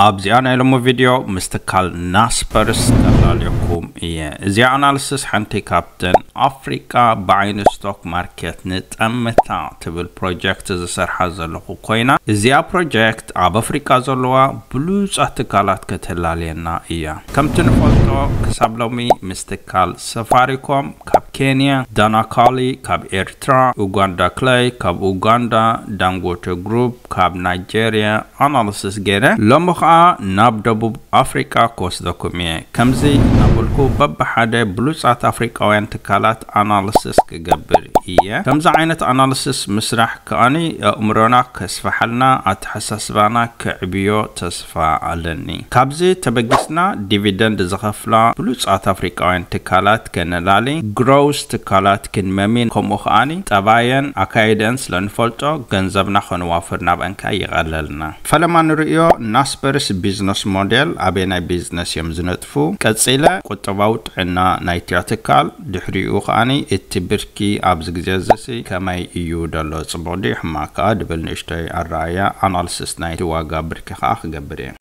ኣብዚኣ ናይ ሎሚ ቪድዮ ምስ ትካል ናስፐርስ ከላልየኩም እየ። እዚኣ ኣናልስስ ሓንቲ ካብተን ኣፍሪቃ ብዓይኒ ስቶክ ማርኬት ንጠምታ ትብል ፕሮጀክት ዝሰርሓ ዘለኹ ኮይና፣ እዚኣ ፕሮጀክት ኣብ ኣፍሪቃ ዘለዋ ብሉጻት ትካላት ከተላልየና እያ። ከምቲ ንፈልጦ፣ ክሳብ ሎሚ ምስ ትካል ሰፋሪኮም ካብ ኬንያ፣ ዳናካሊ ካብ ኤርትራ፣ ኡጋንዳ ክለይ ካብ ኡጋንዳ፣ ዳንጎተ ግሩፕ ካብ ናይጄርያ ኣናልስስ ገይረ፣ ሎሚ ኸኣ ናብ ደቡብ ኣፍሪቃ ክወስደኩም እየ። ከምዚ እናበልኩ በብሓደ ብሉጻት ኣፍሪቃውያን ትካላት ኣናልስስ ክገብር እየ። ከምዚ ዓይነት ኣናልስስ ምስራሕ ከኣኒ ኣእምሮና ከስፍሓልና፣ ኣተሓሳስባና ከዕብዮ ተስፋ ኣለኒ። ካብዚ ተበጊስና ዲቪደንድ ዝኸፍላ ብሉጻት ኣፍሪቃውያን ትካላት ከነላሊ፣ ግሮውስ ትካላት ክንመሚ፣ ከምኡ ከኣኒ ጠባየን ኣካይደን ስለ ንፈልጦ ገንዘብና ከነዋፍር ናብአን ከኣ ይቐለልና። ፈለማ ንርእዮ፣ ናስፐርስ ቢዝነስ ሞዴል ኣበየናይ ቢዝነስ እዮም ዝነጥፉ? ቀጺለ ቁጠባዊ ጥዕና ናይቲኣ ትካል፣ ድሕሪኡ ከኣኒ እቲ ብርኪ ኣብዚ ግዜ እዚሲ ከመይ እዩ ደሎ፣ ጽቡቕ ድዩ ሕማቕ ከኣ ድብል ንእሽቶይ ኣረኣእያ፣ ኣናልስስ ናይቲ ዋጋ ብርኪ ከኣ ክገብር እየ።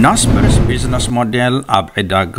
ናስፐርስ ቢዝነስ ሞዴል ኣብ ዕዳጋ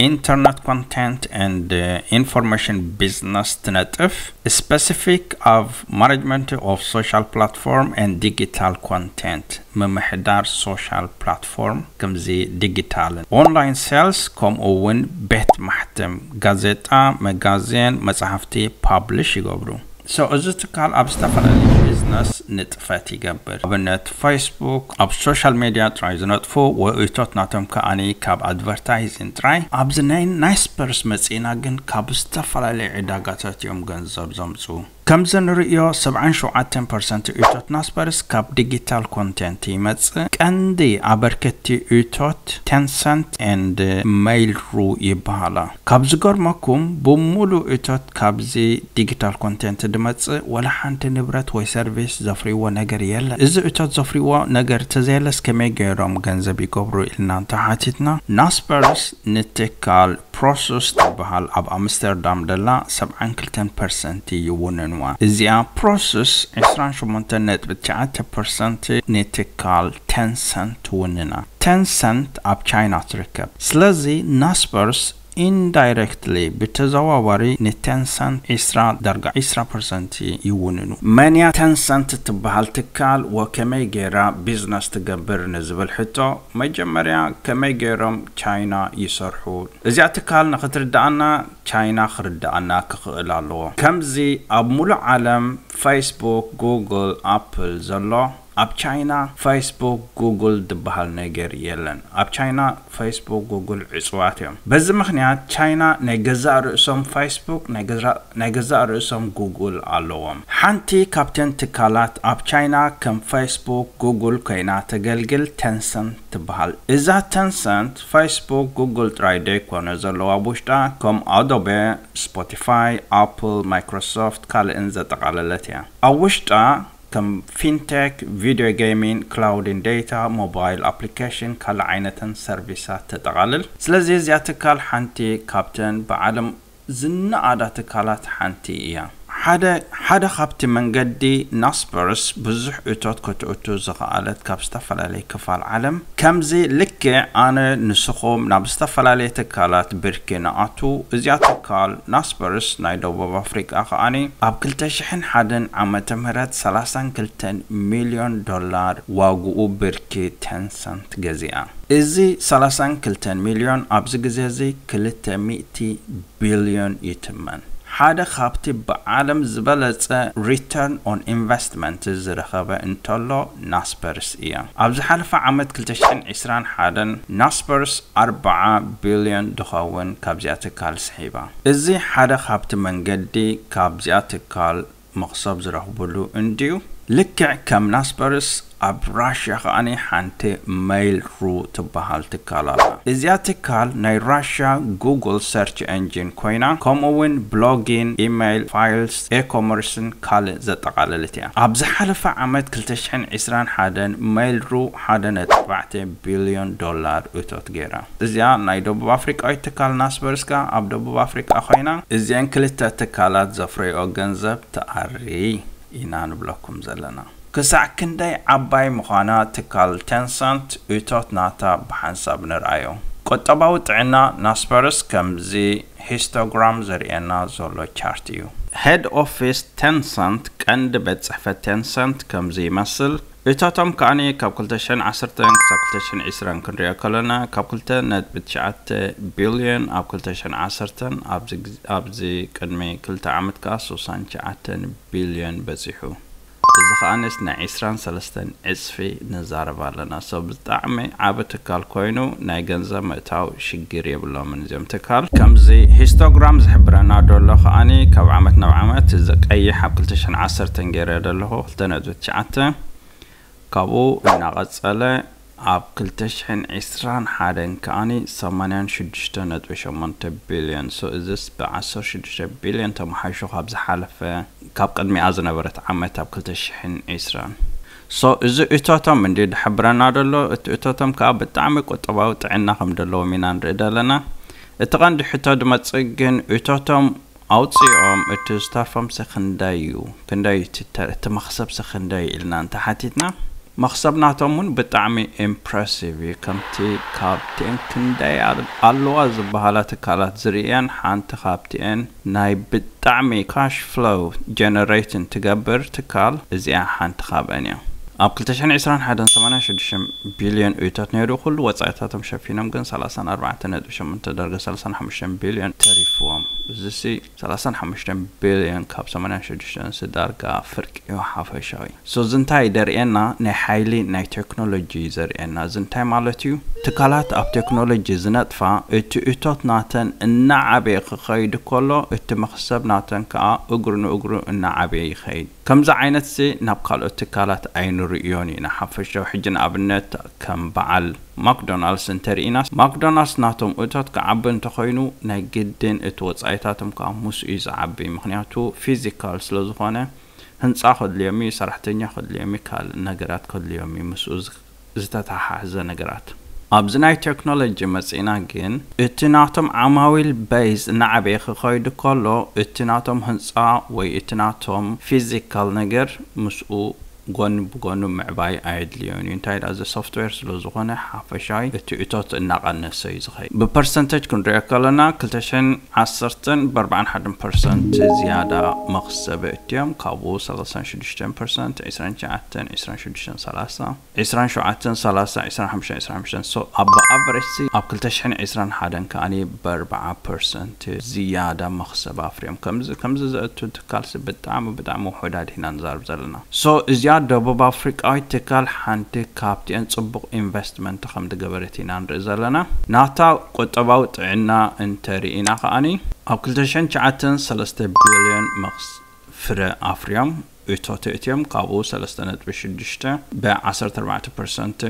ኢንተርነት ኮንቴንት ኤንድ ኢንፎርሜሽን ቢዝነስ ትነጥፍ፣ ስፔሲፊክ ኣብ ማኔጅመንት ኦፍ ሶሻል ፕላትፎርም ኤንድ ዲጂታል ኮንቴንት፣ ምምሕዳር ሶሻል ፕላትፎርም ከምዚ ዲጂታልን ኦንላይን ሴልስ፣ ከምኡ እውን ቤት ማሕተም፣ ጋዜጣ፣ መጋዜን፣ መጽሓፍቲ ፓብሊሽ ይገብሩ። So እዚ ትካል ኣብ ዝተፈላለዩ ቢዝነስ ንጥፈት ይገብር። ኣብነት ፌስቡክ ኣብ ሶሻል ሜድያ ጥራይ ዝነጥፉ ውእቶት ናቶም ከኣኒ ካብ ኣድቨርታይዚንግ ጥራይ። ኣብዚ ናይ ናስፐርስ መጺእና ግን ካብ ዝተፈላለዩ ዕዳጋታት እዮም ገንዘብ ዘምጽኡ። ከምዚ ንርእዮ ሰብዓን ሸውዓተን ፐርሰንት እቶት ናስፐርስ ካብ ዲጂታል ኮንቴንት ይመጽእ። ቀንዲ ኣበርከቲ እቶት ቴንሰንት ኤንድ ሜይል ሩ ይበሃላ። ካብ ዝገርመኩም፣ ብምሉእ እቶት ካብዚ ዲጂታል ኮንቴንት ድመጽእ ወላ ሓንቲ ንብረት ወይ ሰርቪስ ዘፍርይዎ ነገር የለን። እዚ እቶት ዘፍርይዎ ነገር ተዘየለስ ከመይ ገይሮም ገንዘብ ይገብሩ ኢልና እንተሓቲትና፣ ናስፐርስ ንትካል ፕሮሰስ ትበሃል ኣብ ኣምስተርዳም ደላ ሰብዓን ክልተን ፐርሰንት ይውንንዋ። እዚኣ ፕሮሰስ ዕስራን ሸሞንተን ነጥቢ ትሽዓተ ፐርሰንት ንትካል ቴንሰንት ትውንና። ቴንሰንት ኣብ ቻይና ትርከብ። ስለዚ ናስፐርስ ኢንዳይረክትሊ፣ ብተዘዋዋሪ፣ ንቴንሰንት ዕስራ ዳርጋ ዕስራ ፐርሰንት ይውንኑ። መን እያ ቴንሰንት ትበሃል ትካል ወከመይ ገይራ ቢዝነስ ትገብር ንዝብል ሕቶ፣ መጀመርያ ከመይ ገይሮም ቻይና ይሰርሑ? እዚኣ ትካል ንኽትርድኣና ቻይና ክርድኣና ክኽእል ኣለዎ። ከምዚ ኣብ ሙሉእ ዓለም ፌስቡክ፣ ጉግል፣ ኣፕል ዘሎ፣ ኣብ ቻይና ፌስቡክ፣ ጉግል ዝበሃል ነገር የለን። ኣብ ቻይና ፌስቡክ፣ ጉግል ዕጹዋት እዮም። በዚ ምኽንያት ቻይና ናይ ገዛእ ርእሶም ፌስቡክ፣ ናይ ገዛ-፣ ናይ ገዛእ ርእሶም ጉግል ኣለዎም። ሓንቲ ካብተን ትካላት ኣብ ቻይና ከም ፌስቡክ፣ ጉግል ኮይና ተገልግል ቴንሰንት ትበሃል። እዛ ቴንሰንት ፌስቡክ፣ ጉግል ጥራይ ደይኮነ ዘለዋ ኣብ ውሽጣ፣ ከም ኣዶቤ፣ ስፖቲፋይ፣ ኣፕል፣ ማይክሮሶፍት ካልእን ዘጠቓለለት እያ። ኣብ ውሽጣ ከም ፊንቴክ፣ ቪድዮ ጌሚንግ፣ ክላውዲን ዴታ፣ ሞባይል ኣፕሊኬሽን ካልእ ዓይነተን ሰርቪሳት ተጠቓልል። ስለዚ እዚኣ ትካል ሓንቲ ካብተን ብዓለም ዝነኣዳ ትካላት ሓንቲ እያ። ሓደ፣ ሓደ ካብቲ መንገዲ ናስፐርስ ብዙሕ እቶት ከተእቱ ዝኸኣለት ካብ ዝተፈላለየ ክፋል ዓለም፣ ከምዚ ልክዕ ኣነ ንስኹም ናብ ዝተፈላለየ ትካላት ብርኪ ንኣቱ፣ እዚኣ ትካል ናስፐርስ ናይ ደቡብ ኣፍሪቃ ከኣኒ ኣብ ክልተ ሽሕን ሓደን ዓመተ ምህረት ሰላሳን ክልተን ሚልዮን ዶላር ዋግኡ ብርኪ ቴንሰንት ገዚኣ። እዚ ሰላሳን ክልተን ሚልዮን ኣብዚ ግዜ እዚ ክልተ ሚእቲ ቢልዮን ይትመን። ሓደ ካብቲ ብዓለም ዝበለጸ ሪተርን ኦን ኢንቨስትመንት ዝረኸበ እንተሎ ናስፐርስ እያ። ኣብ ዝሓለፈ ዓመት ክልተ ሽሕን ዕስራን ሓደን ናስፐርስ ኣርብዓ ቢልዮን ድኸውን ካብዚኣ ትካል ስሒባ። እዚ ሓደ ካብቲ መንገዲ ካብዚኣ ትካል መኽሰብ ዝረኽብሉ እንድዩ። ልክዕ ከም ናስፐርስ ኣብ ራሽያ ከኣኒ ሓንቲ ሜይል ሩ ትበሃል ትካል ኣላ። እዚኣ ትካል ናይ ራሽያ ጉግል ሰርች ኤንጂን ኮይና፣ ከምኡ እውን ብሎጊን፣ ኢሜይል፣ ፋይልስ፣ ኤኮመርስን ካልእ ዘጠቓለለት እያ። ኣብ ዝሓለፈ ዓመት ክልተ ሽሕን ዕስራን ሓደን ሜይል ሩ ሓደ ነጥቢ ኣርባዕተ ቢልዮን ዶላር እቶት ገይራ። እዚኣ ናይ ደቡብ ኣፍሪቃዊት ትካል ናስበርስ ከኣ ኣብ ደቡብ ኣፍሪቃ ኮይና፣ እዚአን ክልተ ትካላት ዘፍረይኦ ገንዘብ ትኣሪ ኢና ንብለኩም ዘለና። ክሳዕ ክንደይ ዓባይ ምዃና ትካል ቴንሰንት እቶት ናታ ብሓንሳብ ንርኣዮ። ቁጠባዊ ጥዕና ናስፐርስ ከምዚ ሂስቶግራም ዘርእየና ዘሎ ቻርት እዩ። ሄድ ኦፊስ ቴንሰንት፣ ቀንዲ ቤት ጽሕፈት ቴንሰንት ከምዚ ይመስል። እቶቶም ከኣኒ ካብ ክልተ ሽሕን ዓሰርተን ክሳብ ክልተ ሽሕን ዕስራን ክንሪኦ ከለና ካብ ክልተ ነጥቢ ትሽዓተ ቢልዮን ኣብ ክልተ ሽሕን ዓሰርተን ኣብዚ ግዝ-፣ ኣብዚ ቅድሚ ክልተ ዓመት ከኣ ስሳን ትሽዓተን ቢልዮን በጺሑ። እዚ ከኣንስ ናይ ዕስራን ሰለስተን ዕጽፊ ንዛረብ ኣለና። So ብጣዕሚ ዓቢ ትካል ኮይኑ ናይ ገንዘብ ምእታው ሽግር የብሎምን እዚኦም ትካል። ከምዚ ሂስቶግራም ዝሕብረና ደሎ ከኣኒ ካብ ዓመት ናብ ዓመት እዚ ቀይሕ ኣብ ክልተ ሽሕን ዓሰርተን ገይረ ደለኹ ክልተ ነጥቢ ትሽዓተ፣ ካብኡ እናቐጸለ ኣብ ክልተ ሽሕን ዕስራን ሓደን ከኣኒ ሰማንያን ሽዱሽተ ነጥቢ ሸሞንተ ቢልዮን። So እዚስ ብዓሰርተ ሽዱሽተ ቢልዮን ተመሓይሹ ካብ ዝሓለፈ፣ ካብ ቅድሚኣ ዝነበረት ዓመት ኣብ ክልተ ሽሕን ዕስራን። So እዚ እቶቶም እንዲ ዝሕብረና ደሎ፣ እቲ እቶቶም ከኣ ብጣዕሚ ቁጠባዊ ጥዕና ከም ደለዎም ኢና ንርኢ ደለና። እቲ ቀንዲ ሕቶ ዝመጽእ ግን እቶቶም ኣውጺኦም እቲ ዝተርፎምሲ ክንደይ እዩ? ክንደይ እዩ እቲ ተ-፣ እቲ መኽሰብሲ ክንደይ እዩ ኢልና እንተሓቲትና፣ መኽሰብ ናቶም እውን ብጣዕሚ ኢምፕረሲቭ እዩ። ከምቲ ካብቲኤን ክንደይ ኣል-፣ ኣለዋ ዝበሃላ ትካላት ዝርእየን ሓንቲ ካብቲኤን ናይ ብጣዕሚ ካሽ ፍሎው ጀነሬትን ትገብር ትካል እዚኣ ሓንቲ ካብአን እያ። ኣብ ክልተ ሽሕን ዕስራን ሓደን ሰማንያን ሽዱሽተ ቢልዮን እቶት ነይሩ፣ ኩሉ ወጻኢታቶም ሸፊኖም ግን ሰላሳን ኣርባዕተን ነጥቢ ሸሞንተ ዳርጋ ሰላሳን ሓሙሽተን ቢልዮን ተሪፍዎም። እዚሲ ሰላሳን ሓሙሽተን ቢልዮን ካብ ሰማንያን ሽዱሽተን ዳርጋ ፍርቂ እዩ ሓፈሻዊ። So እዚ እንታይ ደርእየና? ናይ ሓይሊ ናይ ቴክኖሎጂ ዘርእየና። እዚ እንታይ ማለት እዩ? ትካላት ኣብ ቴክኖሎጂ ዝነጥፋ እቲ እቶት ናተን እናዓበየ ክኸይድ ከሎ እቲ መኽሰብ ናተን ከኣ እግሩ ንእግሩ እናዓበየ ይኸይድ። ከምዚ ዓይነትሲ ናብ ካልኦት ትካላት ኣይንርእዮን ኢና። ሓፈሻዊ ሕጂ ንኣብነት ከም በዓል ማክዶናልድስ እንተርኢና፣ ማክዶናልድስ ናቶም እቶት ክዓቢ እንተኾይኑ ናይ ግድን እቲ ወጻኢታቶም ከኣ ምስኡ እዩ ዝዓቢ። ምኽንያቱ ፊዚካል ስለ ዝኾነ ህንጻ ከድልዮም እዩ፣ ሰራሕተኛ ከድልዮም እዩ፣ ካልእ ነገራት ከድልዮም እዩ ምስኡ ዝ-፣ ዝተተሓሓዘ ነገራት። ኣብዚ ናይ ቴክኖሎጂ መጺእና ግን እቲ ናቶም ዓማዊል ቤዝ እናዓበየ ክኸይድ ከሎ እቲ ናቶም ህንጻ ወይ እቲ ናቶም ፊዚካል ነገር ምስኡ ጎኒ ብጎኑ ምዕባይ ኣየድልዮን እዩ። እንታይ ደኣ፣ እዚ ሶፍትዌር ስለ ዝኾነ ሓፈሻዊ እቲ እቶት እናቐነሰ እዩ ዝኸይድ። ብፐርሰንቴጅ ክንሪኦ ከለና ክልተ ሽሕን ዓሰርተን ብኣርባዓን ሓደን ፐርሰንት ዝያዳ መኽሰብ እትዮም፣ ካብኡ ሰላሳን ሽዱሽተን ፐርሰንት፣ ዕስራን ትሽዓተን፣ ዕስራን ሽዱሽተን፣ ሰላሳ፣ ዕስራን ሸውዓተን፣ ሰላሳ፣ ዕስራን ሓሙሽተን፣ ዕስራን ሓሙሽተን። So ኣብ ኣቨሬጅ ሲ ኣብ ክልተ ሽሕን ዕስራን ሓደን ከኣኒ ብኣርባዓ ፐርሰንት ዝያዳ መኽሰብ ኣፍርዮም። ከምዚ፣ ከምዚ ዘእቱ ትካልሲ ብጣዕሚ፣ ብጣዕሚ ውሑዳት ኢና ንዛረብ ዘለና። So እዚኣ ደቡብ ኣፍሪቃዊት ትካል ሓንቲ ካብቲኤን ጽቡቕ ኢንቨስትመንት ከም ዝገበረት ኢና ንርኢ ዘለና። ናታ ቁጠባዊ ጥዕና እንተርኢና ከኣኒ ኣብ ክልተ ሽሕን ትሽዓተን ሰለስተ ቢልዮን መኽስ-፣ ፍረ ኣፍርዮም፣ እቶት እትዮም፣ ካብኡ ሰለስተ ነጥቢ ሽዱሽተ ብዓሰርተ ኣርባዕተ ፐርሰንት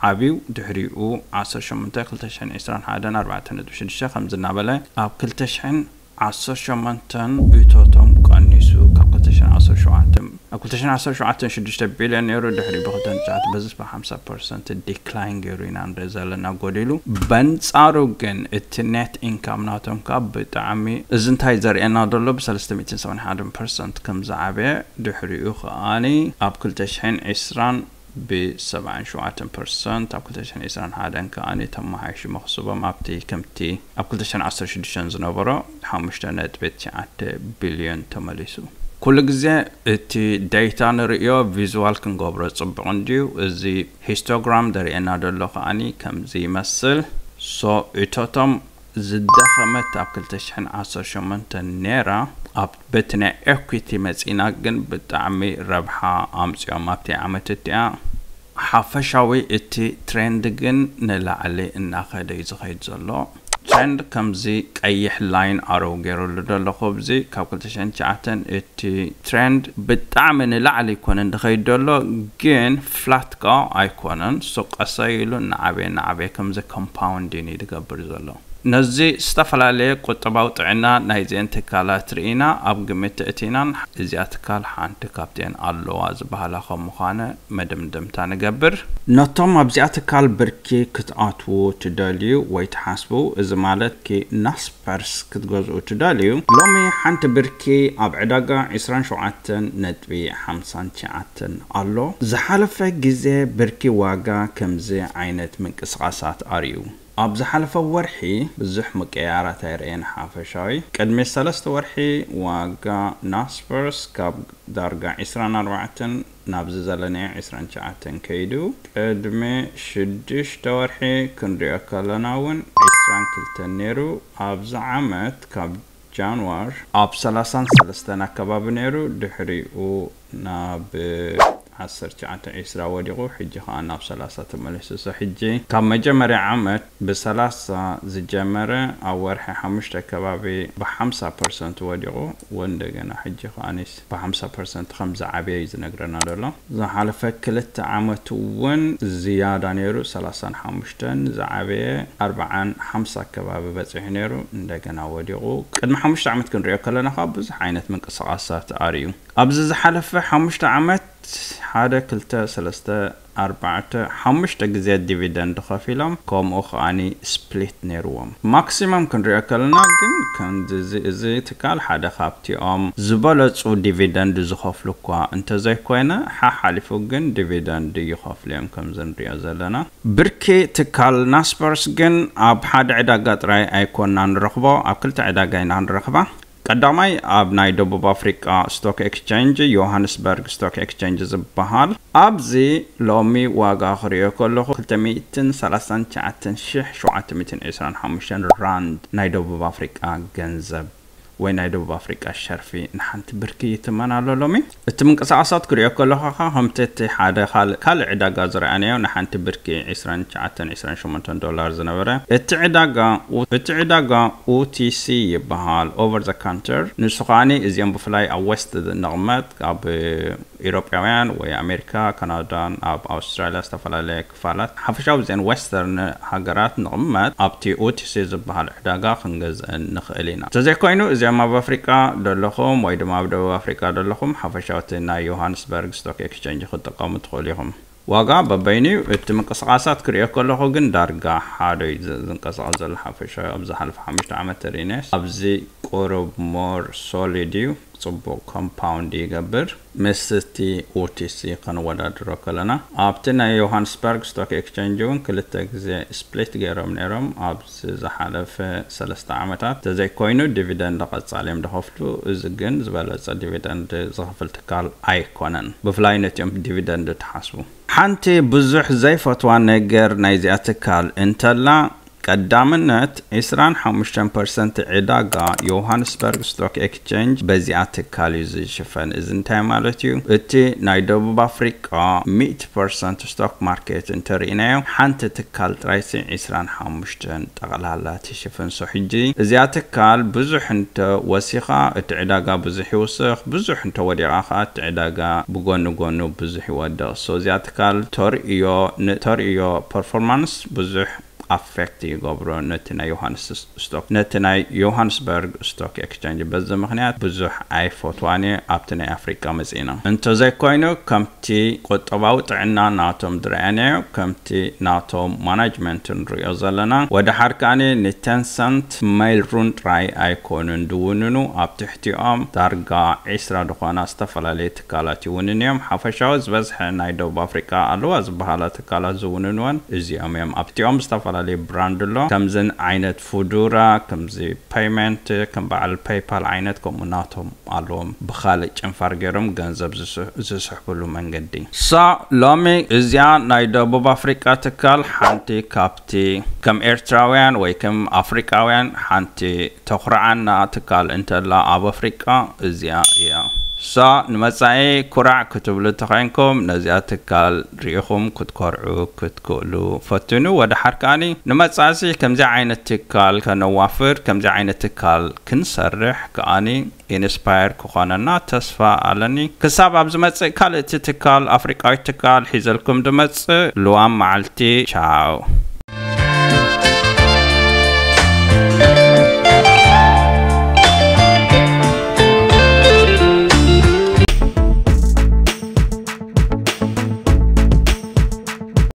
ዓብዩ፣ ድሕሪኡ ዓሰርተ ሸሞንተ፣ ክልተ ሽሕን ዕስራን ሓደን ኣርባዕተ ነጥቢ ሽዱሽተ ከምዚ እናበለ ኣብ ክልተ ሽሕን ዓሰርተ ሸሞንተን እቶቶም ቀኒሱ፣ ካብ ክልተ ሽሕን ዓሰርተ ሸውዓተ፣ ኣብ ክልተ ሽሕን ዓሰርተ ሸውዓተን ሽዱሽተ ቢልዮን ነይሩ፣ ድሕሪኡ ብክልተ ሽሕን ትሽዓተ በዚ ብሓምሳ ፐርሰንት ዲክላይን ገይሩ ኢና ንርኢ ዘለና ጎዲሉ። በንጻሩ ግን እቲ ኔት ኢንካም ናቶም ካብ ብጣዕሚ፣ እዚ እንታይ ዘርእየና ዘሎ፣ ብሰለስተ ሚእትን ሰብዓን ሓደን ፐርሰንት ከም ዝዓበየ፣ ድሕሪኡ ከኣኒ ኣብ ክልተ ሽሕን ዕስራን ብሰብዓን ሸውዓተን ፐርሰንት፣ ኣብ ክልተ ሽሕን ዕስራን ሓደን ከኣኒ ተመሓይሹ መኽስቦም ኣብቲ ከምቲ ኣብ ክልተ ሽሕን ዓሰርተ ሽዱሽተን ዝነበሮ ሓሙሽተ ነጥቢ ትሽዓተ ቢልዮን ተመሊሱ። ኩሉ ግዜ እቲ ዴታ ንርእዮ ቪዝዋል ክንገብሮ ጽቡቕ እንድዩ። እዚ ሂስቶግራም ዘርእየና ዘሎ ከኣኒ ከምዚ ይመስል። So እቶቶም ዝደኸመት ኣብ ክልተ ሽሕን ዓሰርተ ሸሞንተን ነይራ፣ ኣብ በቲ ናይ ኤኩቲ መጺና ግን ብጣዕሚ ረብሓ ኣምጺኦም ኣብቲ ዓመት እቲኣ። ሓፈሻዊ እቲ ትሬንድ ግን ንላዕሊ እናኸደ እዩ ዝኸይድ ዘሎ። ትሬንድ ከምዚ ቀይሕ ላይን ኣረው ገይረሉ ደሎ። ከብዚ ካብ ክልተ ሽሕን ትሽዓተን እቲ ትሬንድ ብጣዕሚ ንላዕሊ ይኮነ እንድኸይድ ደሎ፣ ግን ፍላት ካ ኣይኮነን። ሱ ቀሰይ ኢሉ እናዓበየ እናዓበየ ከምዚ ኮምፓውንድ እዩ ዝገብር ዘሎ። ነዚ ዝተፈላለየ ቁጠባዊ ጥዕና ናይዚአን ትካላት ርኢና ኣብ ግምት እቲናን እዚኣ ትካል ሓንቲ ካብቲአን ኣለዋ ዝበሃላ ከም ምዃነ መደምደምታ ንገብር። ነቶም ኣብዚኣ ትካል ብርኪ ክትኣትዉ ትደልዩ ወይ ትሓስቡ፣ እዚ ማለት ኪ ናስፐርስ ክትገዝኡ ትደልዩ፣ ሎሚ ሓንቲ ብርኪ ኣብ ዕዳጋ ዕስራን ሸውዓተን ነጥቢ ሓምሳን ትሽዓተን ኣሎ። ዝሓለፈ ግዜ ብርኪ ዋጋ ከምዚ ዓይነት ምንቅስቓሳት ኣርእዩ። ኣብ ዝሓለፈ ወርሒ ብዙሕ ምቅያራት ኣይረኣየን ሓፈሻዊ። ቅድሚ ሰለስተ ወርሒ ዋጋ ናስፐርስ ካብ ዳርጋ ዕስራን ኣርባዕተን ናብዚ ዘለናዮ ዕስራን ትሽዓተን ከይዱ፣ ቅድሚ ሽዱሽተ ወርሒ ክንሪኦ ከለና እውን ዕስራን ክልተን ነይሩ። ኣብዚ ዓመት ካብ ጃንዋር ኣብ ሰላሳን ሰለስተን ኣከባቢ ነይሩ፣ ድሕሪኡ ናብ ዓሰርተ ትሽዓተ ዕስራ ወዲቑ፣ ሕጂ ኸዓ ናብ ሰላሳ ተመሊሱ። So ሕጂ ካብ መጀመርያ ዓመት ብሰላሳ ዝጀመረ ኣብ ወርሒ ሓሙሽተ ከባቢ ብሓምሳ ፐርሰንት ወዲቑ፣ ወንደገና ሕጂ ኸዓኒስ ብሓምሳ ፐርሰንት ከም ዝዓበየ እዩ ዝነግረና ዘሎ። ዝሓለፈ ክልተ ዓመት እውን ዝያዳ ነይሩ፣ ሰላሳን ሓሙሽተን ዝዓበየ ኣርባዓን ሓምሳ ከባቢ በፂሑ ነይሩ፣ እንደገና ወዲቑ። ቅድሚ ሓሙሽተ ዓመት ክንሪኦ ከለና ከዓ ብዙሕ ዓይነት ምንቅስቓሳት ኣርእዩ። ኣብዚ ዝሓለፈ ሓሙሽተ ዓመት ሓደ፣ ክልተ፣ ሰለስተ፣ ኣርባዕተ፣ ሓሙሽተ ግዜ ዲቪደንድ ከፊሎም፣ ከምኡ ከዓኒ ስፕሊት ነይርዎም። ማክሲመም ክንሪኦ ከለና ግን ከምዚ እዚ ትካል ሓደ ካብቲኦም ዝበለጹ ዲቪደንድ ዝኸፍሉ እኳ እንተዘይኮይነ፣ ሓሓሊፉ ግን ዲቪደንድ ይኸፍሉ እዮም ከምዚ ንሪኦ ዘለና። ብርኪ ትካል ናስፐርስ ግን ኣብ ሓደ ዕዳጋ ጥራይ ኣይኮና ንረኽቦ፣ ኣብ ክልተ ዕዳጋ ኢና ንረኽባ። ቀዳማይ ኣብ ናይ ደቡብ ኣፍሪቃ ስቶክ ኤክስቼንጅ፣ ዮሃንስበርግ ስቶክ ኤክስቼንጅ ዝበሃል። ኣብዚ ሎሚ ዋጋ ክሪኦ ከለኹ ክልተ ሚእትን ሰላሳን ትሽዓተን ሽሕ ሸውዓተ ሚእትን ዕስራን ሓሙሽተን ራንድ ናይ ደቡብ ኣፍሪቃ ገንዘብ ወይ ናይ ደቡብ ኣፍሪቃ ሸርፊ ንሓንቲ ብርኪ ይትመን ኣሎ ሎሚ። እቲ ምንቅስቓሳት ክሪኦ ከለኹ ኸዓ ከምቲ እቲ ሓደ ካልእ፣ ካልእ ዕዳጋ ዝረኣናዮ ንሓንቲ ብርኪ ዕስራን ትሽዓተን ዕስራን ሸሞንተን ዶላር ዝነበረ፣ እቲ ዕዳጋ ኡ-፣ እቲ ዕዳጋ ኦቲሲ ይበሃል፣ ኦቨር ዘ ካንተር። ንሱ ከዓኒ እዚኦም ብፍላይ ኣብ ዌስት ንቕመጥ፣ ኣብ ኢሮጳውያን ወይ ኣሜሪካ፣ ካናዳን ኣብ ኣውስትራልያ ዝተፈላለየ ክፋላት፣ ሓፈሻዊ እዚአን ዌስተርን ሃገራት ንቕመጥ ኣብቲ ኦቲሲ ዝበሃል ዕዳጋ ክንገዝእን ንኽእል ኢና። እንተዘይኮይኑ እዚኦም ኣብ ኣፍሪቃ ዘለኹም ወይ ድማ ኣብ ደቡብ ኣፍሪቃ ዘለኹም ሓፈሻዊ እቲ ናይ ዮሃንስበርግ ስቶክ ኤክስቼንጅ ክትጥቀሙ ትኽእሉ ኢኹም። ዋጋ በበይኑ እዩ። እቲ ምንቅስቓሳት ክሪኦ ከለኹ ግን ዳርጋ ሓደ እዩ ዝ-፣ ዝንቀሳቐስ ዘሎ ሓፈሻዊ ኣብ ዝሓለፈ ሓሙሽተ ዓመት ተሪእናዮስ። ኣብዚ ቁሩብ ሞር ሶሊድ እዩ፣ ጽቡቕ ኮምፓውንድ ይገብር። ምስ እቲ ኦቲሲ ከነወዳድሮ ከለና፣ ኣብቲ ናይ ዮሃንስበርግ ስቶክ ኤክስቼንጅ እውን ክልተ ግዜ ስፕሊት ገይሮም ነይሮም ኣብዚ ዝሓለፈ ሰለስተ ዓመታት። ተዘይኮይኑ ዲቪደንድ ቀጻሊ እዮም ዝኸፍሉ። እዚ ግን ዝበለጸ ዲቪደንድ ዝኸፍል ትካል ኣይኮነን፣ ብፍላይ ነቲኦም ዲቪደንድ ትሓስቡ። ሓንቲ ብዙሕ ዘይፈትዋ ነገር ናይዚኣ ትካል እንተላ፣ ቀዳምነት ዕስራን ሓሙሽተን ፐርሰንት ዕዳጋ ዮሃንስበርግ ስቶክ ኤክስቼንጅ በዚኣ ትካል እዩ ዝሽፈን። እዚ እንታይ ማለት እዩ? እቲ ናይ ደቡብ ኣፍሪቃ ሚእቲ ፐርሰንት ስቶክ ማርኬት እንተርኢናዮ፣ ሓንቲ ትካል ጥራይሲ ዕስራን ሓሙሽተን ጠቕላላ ትሽፍን። So ሕጂ እዚኣ ትካል ብዙሕ እንተ ወሲኻ፣ እቲ ዕዳጋ ብዙሕ ይውስኽ፣ ብዙሕ እንተ ወዲቓ ኸዓ እቲ ዕዳጋ ብጎኒ ጎኑ ብዙሕ ይወድቕ። So እዚኣ ትካል ተርእዮ፣ ን-፣ ተርእዮ ፐርፎርማንስ ብዙሕ ኣፌክት ይገብሮ ነቲ ናይ ዮሃንስ ስቶክ፣ ነቲ ናይ ዮሃንስበርግ ስቶክ ኤክስቼንጅ። በዚ ምኽንያት ብዙሕ ኣይፈትዋን እየ ኣብቲ ናይ ኣፍሪቃ መጺእና። እንተዘይኮይኑ ከምቲ ቁጠባዊ ጥዕና ናቶም ዝረኣናዮ፣ ከምቲ ናቶም ማናጅመንት ንሪኦ ዘለና፣ ወደ ሓር ከኣኒ ንቴንሰንት ሜይል ሩን ጥራይ ኣይኮኑን ዝውንኑ፣ ኣብ ትሕቲኦም ዳርጋ ዕስራ ዝኾና ዝተፈላለየ ትካላት ይውንን እዮም። ሓፈሻዊ ዝበዝሐ ናይ ደቡብ ኣፍሪቃ ኣለዋ ዝበሃላ ትካላት ዝውንንወን እዚኦም እዮም። ኣብቲኦም ዝተፈላለዩ ብራንድ ኣሎ። ከምዝን ዓይነት ፉዱራ፣ ከምዚ ፔይመንት፣ ከም በዓል ፔይፓል ዓይነት፣ ከምኡ ናቶም ኣለዎም። ብኻልእ ጨንፋር ገይሮም ገንዘብ ዝስሕ-፣ ዝስሕብሉ መንገዲ። ሳ ሎሚ እዚኣ ናይ ደቡብ ኣፍሪቃ ትካል ሓንቲ ካብቲ ከም ኤርትራውያን ወይ ከም ኣፍሪቃውያን ሓንቲ ተኹርዓና ትካል እንተላ ኣብ ኣፍሪቃ እዚኣ እያ። So ንመጻኢ ኩራዕ ክትብሉ ተኾይንኩም ነዚኣ ትካል ርኢኹም ክትኮርዑ ክትክእሉ ፈትኑ። ወደ ሓር ከኣኒ ንመጻእሲ ከምዚ ዓይነት ትካል ከነዋፍር፣ ከምዚ ዓይነት ትካል ክንሰርሕ ከኣኒ ኢንስፓየር ክኾነና ተስፋ ኣለኒ። ክሳብ ኣብ ዝመጽእ ካልእ እቲ ትካል ኣፍሪቃዊ ትካል ሒዘልኩም ድመጽእ፣ ልዋም መዓልቲ። ቻው።